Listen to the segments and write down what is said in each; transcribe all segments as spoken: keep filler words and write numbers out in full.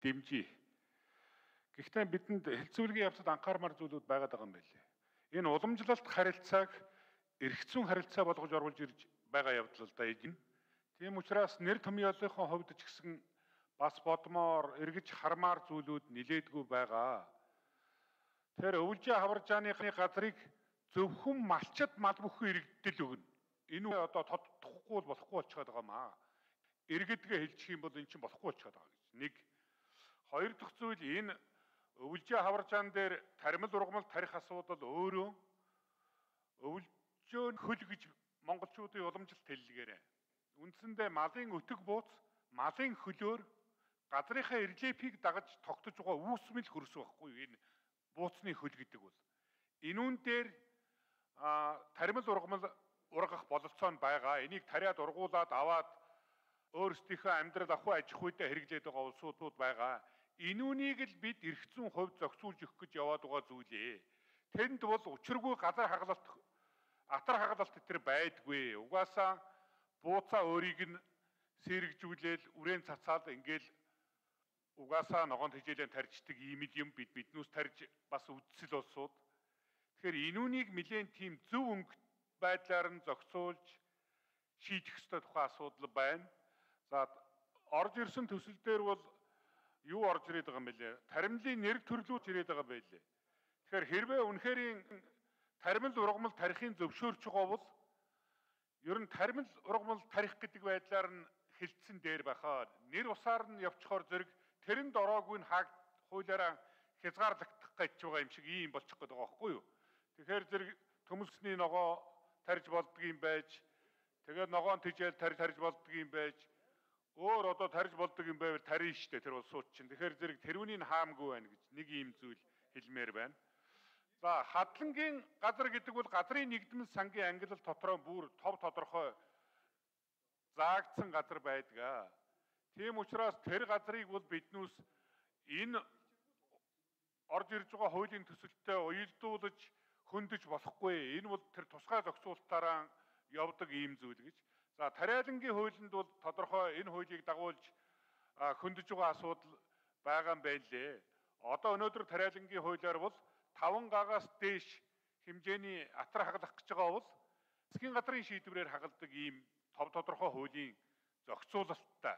дэмжиж. Гэхдээ бидэнд хэлцүүлгийн явцад анхаармаар зүйлүүд байгаад байгаа юм байлээ. Энэ уламжлалт харилцааг эрх зүйн харилцаа болгож оруулж ирж байгаа явдал л да энэ. Тийм учраас нэр томьёолынхоо хувьд ч гэсэн бас бодмоор эргэж хармаар зүйлүүд нилээдгүй байгаа. Тэр өвлжээ хаваржааны газрыг зөвхөн малчад мал бүхэн иргэдэл өгнө. Энэ үү одоо тодтохгүй болохгүй болчиход байгаа маа. Иргэдгээ хэлчих юм бол эн чинь болохгүй болчиход байгаа гэж. Нэг. Хоёр дахь зүйл энэ өвлжээ хаваржаан дээр таримал ургамал тарих асуудал өөрөө өвлжөө хөл гэж монголчуудын уламжлалт хэллэгээрээ. Үндсэндээ малын өтөг бууц, малын хөлөөр газрынхаа рельефийг дагаж тогтож байгаа үүсмэл хөрсөн байхгүй юу? Энэ бууцны хөл гэдэг бол. Энүүн дээр таримал ургамал ургах бололцоо нь байгаа. Энийг тариад ургуулад аваад өөрсдийнхөө амьдрал ахуй аж ахуйдаа хэрэглээд байгаа улсуудууд байгаа. Энүүнийг л бид эрх зүйн хувьд зохицуулж өгөх гэж яваад байгаа зүйлээ. Тэнд бол учиргүй газар хагалалт, атар хагалалт гэтэр байдгүй. Угаасаа бууцаа өөрийг нь сэрэгжүүлээл, үрээн цацаад ингээл угаасаа ногоон хижээлэн тарьждаг ийм л юм бид биднүүс тарьж бас үдсэл улсууд. Тэгэхээр энүүнийг нэлээд тийм зөв өнгө байдлаар нь зохицуулж шийдэх ёстой тухай асуудал байна. За орж ирсэн төсөл дээр бол юу орж ирээд байгаа юм бэлээ? Таримлын нэрг төрлүүд ирээд байгаа байлээ. Тэгэхээр хэрвээ үнэхэрийн таримл ургамал тарихын зөвшөөрч байгаа бол ер нь таримл ургамал тарих гэдэг байдлаар нь хэлцсэн дээр байхаа. Нэр усаар нь явчихоор зэрэг тэрэнд ороогүй нь хааг хуулиараа хязгаарлагдах гэж байгаа юм шиг ийм болчих гээд байгаа байхгүй юу? Тэгэхээр зэрэг төмөлсний ногоо тарьж болдгийм байж, тэгээд ногоон тижэл тарьж тарьж болдгийм байж, өөр одоо тарьж болдог юм байвал тарьна штэ тэр улсууд чинь. Тэгэхээр зэрэг тэрүүнийг хаамгүй байна гэж нэг ийм зүйл хэлмээр байна. За хадлангийн газар гэдэг бол газрын нэгдмэл сангийн ангилал дотроо бүр тов тодорхой заагдсан газар байдаг. Тийм учраас тэр газрыг бол биднүүс энэ орж ирж байгаа хуулийн төсөлтөд уялдуулж хөндөж болохгүй. Энэ бол тэр тусгай зохицуулалтаараа явдаг ийм зүйл гэж. За тариалангийн хуулинд бол тодорхой энэ хуулийг дагуулж хөндөж байгаа асуудал байгаа юм байлээ. Одоо өнөөдөр тариалангийн хуулиар бол таван гагаас дээш хэмжээний атар хагалах гэж байгаа бол засгийн газрын шийдвэрээр хагалдаг ийм тов тодорхой хуулийн зохицуулалттай.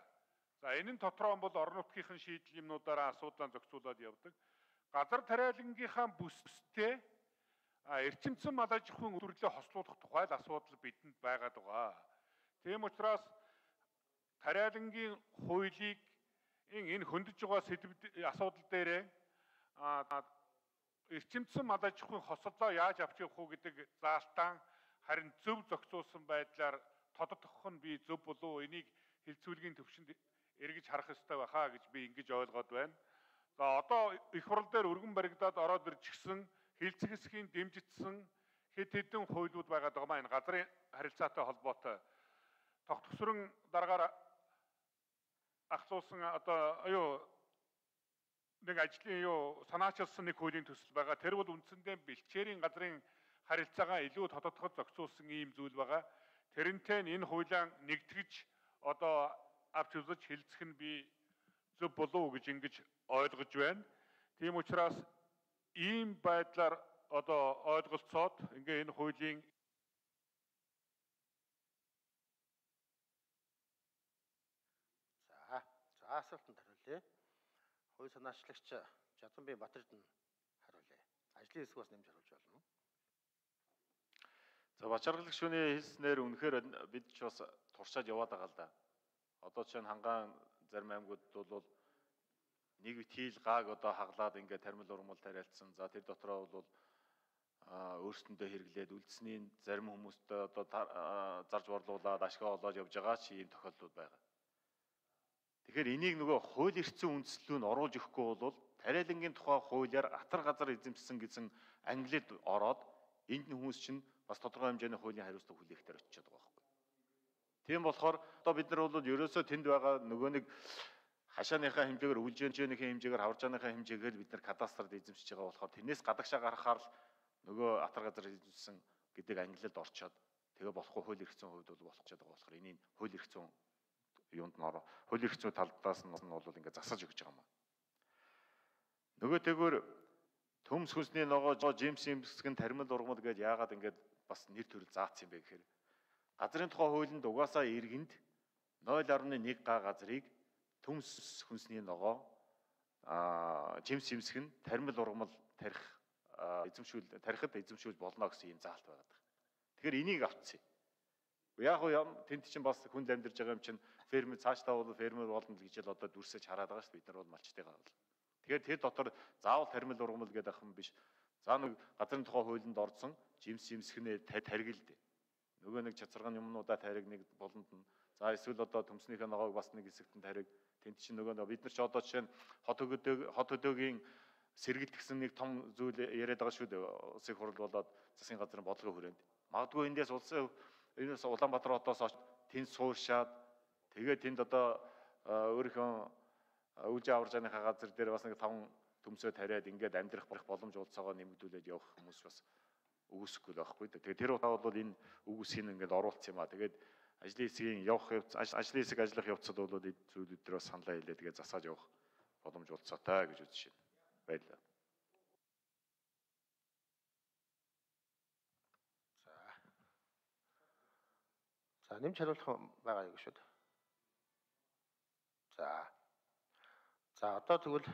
За энэ нь дотроо бол орон нутгийнхын шийдэл юмнуудаараа асуудлаа зохицуулаад явдаг. Газар тариалангийнхаа бүстэй эрчимцэн мал аж ахуйн үйлдвэрлэлээ хослуулах тухай л асуудал бидэнд байгаад байгаа. Тийм учраас тариалангийн хуулийг энэ хөндөж байгаа сэдв асуудал дээрээ эрчимцэн мал аж ахуйн хослолоо яаж авч явах уу гэдэг заалтаа харин зөв зохицуулсан байдлаар тодотгох нь би зөв болов энийг хэлцүүлгийн төвшөнд эргэж харах ёстой байхаа гэж би ингэж ойлгоод байна. За одоо их хурл дээр өргөн баригдаад ороод ирж гисэн хэлцэх хэсгийн дэмжигдсэн хэд хэдэн хуулиуд байгаад байгаа маа энэ газрын харилцаатай холбоотой. Тогтгосрон дараагаар ахлуулсан одоо юу нэг ажлын юу санаачилсан нэг хуулийн төсөл байгаа. Тэр бол үндсэндээ бэлчээрийн газрын харилцаагаа илүү тодотгож зохицуулсан ийм зүйл байгаа. Тэрнтэй энэ хуулиан нэгтгэж одоо авч үзэж хэлцэх нь би зөв болов гэж ингэж ойлгож байна. Тийм учраас ийм байдлаар одоо ойлголцоод ингээ энэ хуулийн За, за асуултанд хариулъя. Хууль санаачлагч Жаданбай Батэрд нь хариулъя. Ажлын хэсгээс нэмж хариулж болно. За бачаргалаг шүний хэлснээр үнэхээр бид ч бас туршаад яваад байгаа л да. Одоо чинь хангаан зарим аймагуд бол нэг витил гааг одоо хаглаад ингээд таримал урмал тариалцсан. За тэр дотроо бол өөрсөндөө хэрэглээд үлдсний зарим хүмүүстээ одоо зарж борлуулад ашгаа олоод явж байгаа ч ийм тохиолдлууд байгаа. Тэгэхээр энийг нөгөө хууль эрх зүйн үндслэлөө нь оруулж өгөхгүй бол тариалангийн тухай хуулиар атар газар эзэмшсэн гэсэн ангилалд ороод энд нь хүмүүс чинь бас тодорхой хэмжээний хуулийн хариуцлага хүлээхтэй очиод байгаа байхгүй. Тийм болохоор одоо бид нар бол ерөөсөө тэнд байгаа нөгөө нэг хашааныхаа хэмжээгээр үлжээнийхээ хэмжээгээр хаваржааныхаа хэмжээгээр бид нар кадастрт эзэмшиж байгаа болохоор тэрнээс гадагшаа гарахаар л нөгөө атар газар эзэмшсэн гэдэг ангилалд орчоод тэгээ болохгүй хууль эрх зүйн хувьд бол болохчод байгаа болохоор энийг хууль эрх зүйн юунд нь ороо хууль эрх зүйн талдаас нь бол ингээд засаж өгч байгаа юм. Нөгөө тэгвэр төмс хүнсний ногоо Джеймс Имсгэн тармил ургамал гэж яагаад ингэж бас нэр төрөл заасан юм бэ гэхээр газрын тухай хуулинд угаасаа иргэнд нуль орны нэг га газрыг төмс хүнсний ногоо а Джеймс Имсгэн тармил ургамал тарих эзэмшүүл тарихад эзэмшүүл болно гэсэн юм заалт байгаад байна. Тэгэхээр энийг авцъя. Яг уу тэнд чинь бас хүн амьдарч байгаа юм чинь фермер цаашлаа бол фермер болно л гэж л одоо дүрсэж хараад байгаа шүү дээ. Бид нар бол малчтайгаа бол. Тэгэхээр тэр дотор заавал тармил ургамал гэдэг ах юм биш. За нэг газрын тухай хуулинд орсон Джеймс Имсгэнээ тариг л дээ. Нөгөө нэг чацарган юмнуудаа тариг нэг болонд нь. За эсвэл одоо төмснийхээ ногоог бас нэг хэсэгт нь тариг. Тэнд чинь нөгөө бид нар ч одоо жишээ нь хот хөдөө хот хөдөөгийн сэргэлт гэсэн нэг том зүйл яриад байгаа шүү дээ. Улсын хурал болоод засгийн газрын бодлого хүрээнд. Магадгүй эндээс улсын энэс Улаанбаатар хотоос тэнд сууршаад тэгээд тэнд одоо өөрийнхөө үйл аварж байгааныхаа газар дээр бас нэг таван төмсөө тариад ингээд амьдрах боломж олцоогоо нэмэгдүүлээд явах хүмүүс бас үгүйсэхгүй л байхгүй. Тэгээд тэр удаа бол энэ үгүйсийг ингээд оруулсан юм а. Тэгээд ажлын хэсгийн явах явц ажлын хэсэг ажиллах явцад бол энэ зүйлүүд дээр бас саналаа хэлээ тэгээд засааж явах боломж олцоотой гэж үзэж байна. Баярлалаа. За нэмж хариулах байгаа юу шүү дээ. За. За одоо тэгвэл